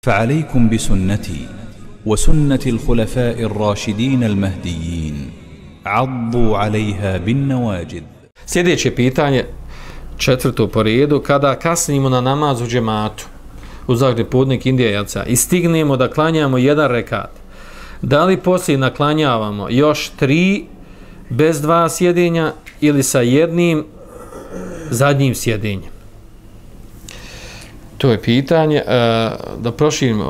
فعليكم بسنتي وسنة الخلفاء الراشدين المهديين عضوا عليها بالنواجذ. Sljedeće pitanje, četvrto po redu, kada kasnimo na namaz u džematu u Zagreb podnik Indijaca i stignemo da klanjamo jedan rekat, da li poslije naklanjavamo još 3 bez 2 sjedenja ili sa jednim zadnjim sjedenjem? To je pitanje, da proširim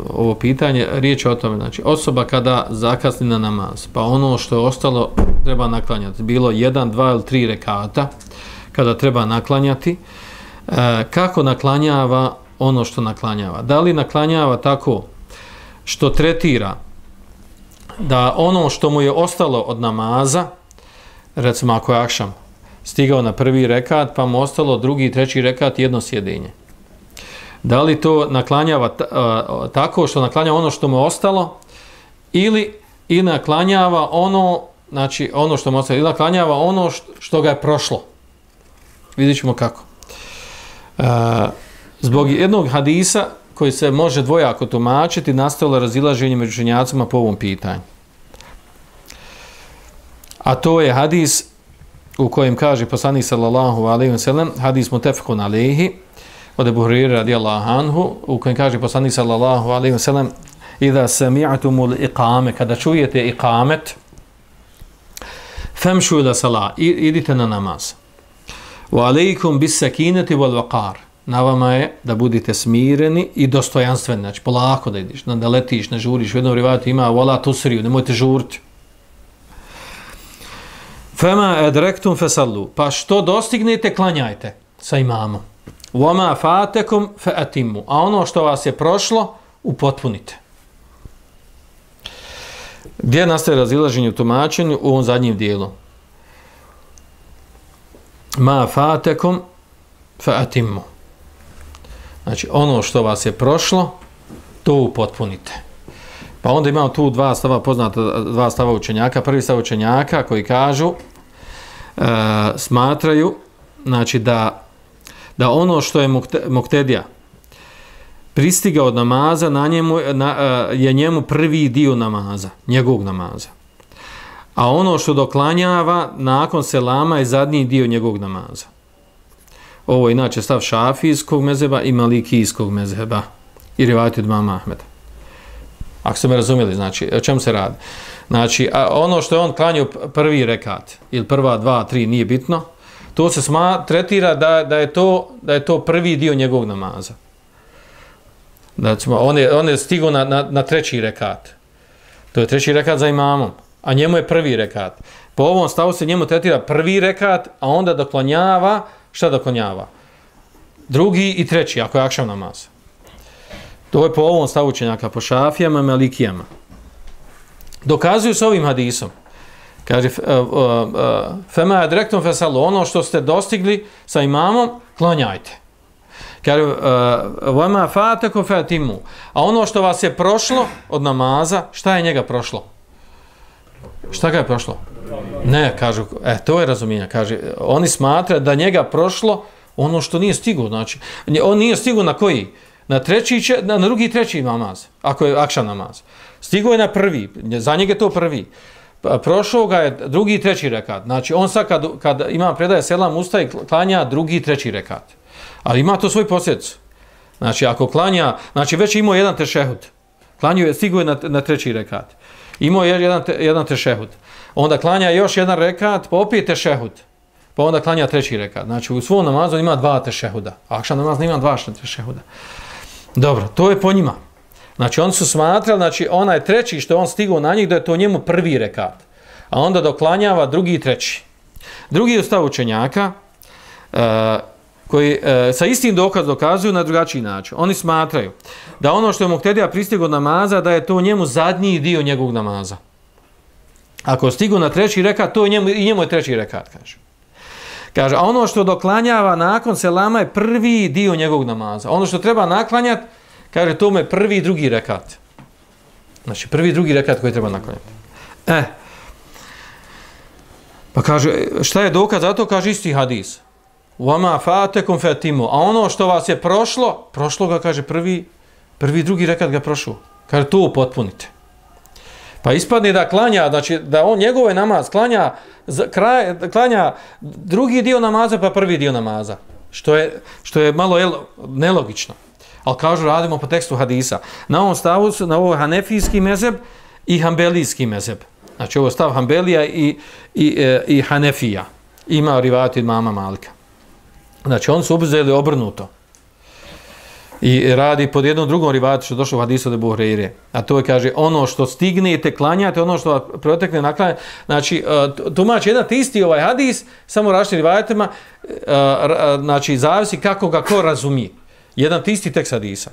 ovo pitanje, riječ je o tome, znači osoba kada zakasni na namaz, pa ono što je ostalo treba naklanjati, bilo 1, 2 ili 3 rekata, kada treba naklanjati, kako naklanjava ono što naklanjava? Da li naklanjava tako što tretira da ono što mu je ostalo od namaza, recimo ako je akšam, stigao na prvi rekat, pa mu ostalo drugi, treći rekat, jedno sjedenje. Da li to naklanjava tako što naklanjava ono što mu je ostalo ili naklanjava ono, znači ono što mu je ostalo, ili naklanjava ono što ga je prošlo. Vidjet ćemo kako. Zbog jednog hadisa koji se može dvojako tumačiti, nastalo razilaženje među učenjacima po ovom pitanju. A to je hadis u kojem kaže poslanik sallallahu alejhi ve sellem, hadis mutefekun alejhi, od Ebu Hurajre radijallahu anhu, u kojem kaže poslanik sallallahu alejhi ve sellem: "Iza sami'tumul iqame", kada čujete iqamet, famshu ila salah, idite na namaz. Wa alejkum bis sakinati wal waqar, na vama je da budete smireni i dostojanstveni, znači polako da ideš, da letiš, ne žuriš. U jednom rivajetu ima wala tusriu, nemojte žuriti. Fama adraktum fasallu, pa što dostignete, klanjajte sa imamom. Wama fatakum fa'atimmu, a ono što vas je prošlo, upotpunite. Gdje nastaje razilaženje u tumačenju? U ovom zadnjem dijelu. Ma fatakum fa'atimmu. Znači, ono što vas je prošlo, to upotpunite. Pa onda imamo tu dva stava, poznata dva stava učenjaka. Prvi stav učenjaka koji kažu, smatraju, znači da ono što je muktedija pristigao od namaza, je njemu prvi dio namaza, njegovog namaza. A ono što doklanjava nakon selama je zadnji dio njegovog namaza. Ovo je inače stav šafijskog mezheba i malikijskog mezheba i rivajat od imama Ahmeda. Ako ste me razumjeli, znači, o čemu se radi? Znači, ono što je on klanjao prvi rekat, ili prva 2, 3, nije bitno, to se tretira da je to prvi dio njegovog namaza. Znači, on je stigao na treći rekat. To je treći rekat za imamom, a njemu je prvi rekat. Po ovom stavu se njemu tretira prvi rekat, a onda doklanjava, šta doklanjava? Drugi i treći, ako je akšam namaz. To je po ovom stavu učenjaka, po šafijama i malikijama. Dokazuju s ovim hadisom. Kaže, fema adrektum fasallu, ono što ste dostigli sa imamom, klanjajte. Kaže, vama fatakum fa'atimmu, a ono što vas je prošlo od namaza, šta je njega prošlo? Šta ga je prošlo? Ne, kažu, to je razumijenje. Kaže, oni smatraju da njega prošlo ono što nije stigao. Znači, on nije stigao na koji? Na drugi i treći namaz, ako je akšam namaz. Stigao je na prvi, za njega je to prvi. Prošao ga je drugi i treći rekat. Znači, on sad kad ima predaje selam, ustaje, klanja drugi i treći rekat. Ali ima to svoj posljedicu. Znači, ako klanja, znači već imao jedan tešehud. Klanjuje, stigao je na treći rekat. Imao je jedan tešehud. Onda klanja još jedan rekat, pa opet tešehud. Pa onda klanja treći rekat. Znači, u svom namazu ima 2 tešehuda. Akšam namaz nema 2 tešehuda. Dobro, to je po njima. Znači, oni su smatrali, znači, onaj treći što on stigao na njih, da je to njemu prvi rekat. A onda doklanjava drugi i treći. Drugi stav učenjaka, koji sa istim dokazom dokazuju na drugačiji način. Oni smatraju da ono što je muktedija pristigao namaza, da je to njemu zadnji dio njegovog namaza. Ako stigao na treći rekat, to je njemu je treći rekat, kaže. Kaže, a ono što doklanjava nakon selama je prvi dio njegovog namaza. Ono što treba naklanjati, kaže, to mu je prvi i drugi rekat. Znači, prvi i drugi rekat koji treba naklanjati. Pa kaže, šta je dokaz za to? Kaže, isti hadis. Vama fatakum fa'atimmu, a ono što vas je prošlo ga, kaže, prvi Prvi, drugi rekat ga prošao. Kaže, to upotpunite. Pa ispadne da klanja, znači da on njegove namaz klanja drugi dio namaza pa prvi dio namaza. Što je malo nelogično. Ali kažu, radimo po tekstu hadisa. Na ovom stavu su, na ovo hanefijski mezheb i hambelijski mezheb. Znači ovo stav Hambelija i Hanefija. Ima rivajat od mama Malika. Znači oni su uzeli obrnuto. I radi pod jednom drugom rivajatu što je došlo u hadisu od Ebu Hurajre. A to je, kaže, ono što stignete klanjate, ono što protekne naklanjate. Znači, tumači jedan isti ovaj hadis, samo različitim rivajatima, znači, zavisi kako ga ko razumije. Jedan isti tekst hadisa.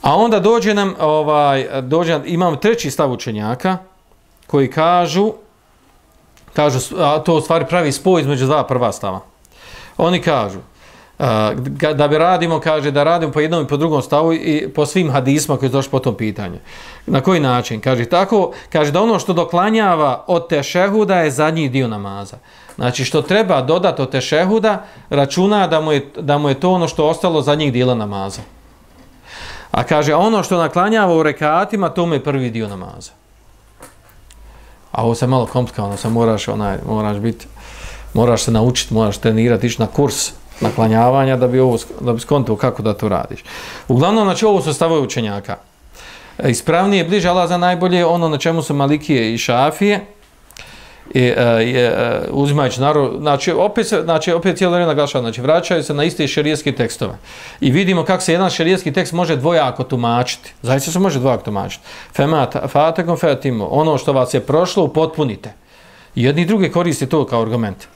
A onda dođe nam, imamo treći stav učenjaka, koji kažu, a to u stvari pravi spoj između dva prva stava. Oni kažu, da bi radimo, kaže, da radimo po jednom i po drugom stavu i po svim hadisma koji su došli po tom pitanju. Na koji način? Kaže, tako, kaže da ono što doklanjava od tešehuda je zadnji dio namaza. Znači, što treba dodati od tešehuda, računa da mu je to ono što ostalo zadnjih dijela namaza. A kaže, ono što naklanjava u rekatima, to mu je prvi dio namaza. A ovo se malo komplikovano, moraš se naučiti, moraš trenirati, ići na kurs naklanjavanja da bi skontao kako da to radiš. Uglavnom, znači, ovo su stavovi učenjaka. Ispravnije, bliže Allah za najbolje, ono na čemu su Malikije i Šafije, uzimajući narod, znači opet cijelo vrijeme naglašava, znači vraćaju se na iste šerijski tekstove. I vidimo kako se jedan šerijski tekst može dvojako tumačiti. Zaista se može dvojako tumačiti. Fatekom fetimo, ono što vas je prošlo, upotpunite. Jedni i drugi koriste to kao argument.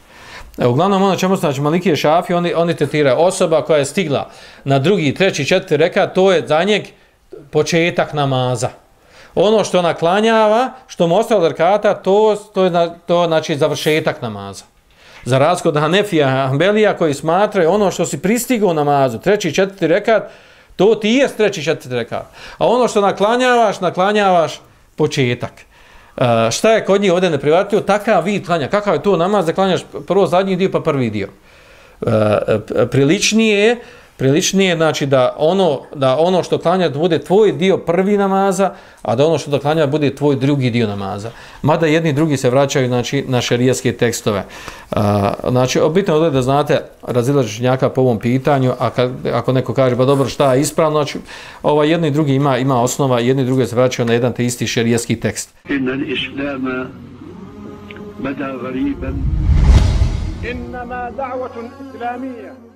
Uglavnom, ono čemu znači Malikije i Šafije, oni tretiraju osoba koja je stigla na drugi, treći, četvrti rekat, to je za njeg početak namaza. Ono što naklanjava, što mu ostalo od rekata, to znači završetak namaza. Za razliku od Hanefija, Hambelija koji smatraju ono što si pristigao u namazu, treći, četvrti rekat, to ti je treći, četvrti rekat. A ono što naklanjavaš početak. Šta je kod njih ovdje neprihvatljivo? Takav vid klanja. Kakav je to namaz da klanjaš prvo zadnji dio pa prvi dio? Priličnije znači da ono što klanja bude tvoj dio prvi namaza, a da ono što klanja bude tvoj drugi dio namaza. Mada jedni i drugi se vraćaju, znači, na šerijatske tekstove. Znači, bitno je da znate razilaženje učenjaka po ovom pitanju, a ako neko kaže, pa dobro, šta je ispravno, znači, jedni i drugi ima osnova, jedni i drugi se vraćaju na jedan te isti šerijatski tekst. Innal islama bada gariban. Innama da'watun islamiyya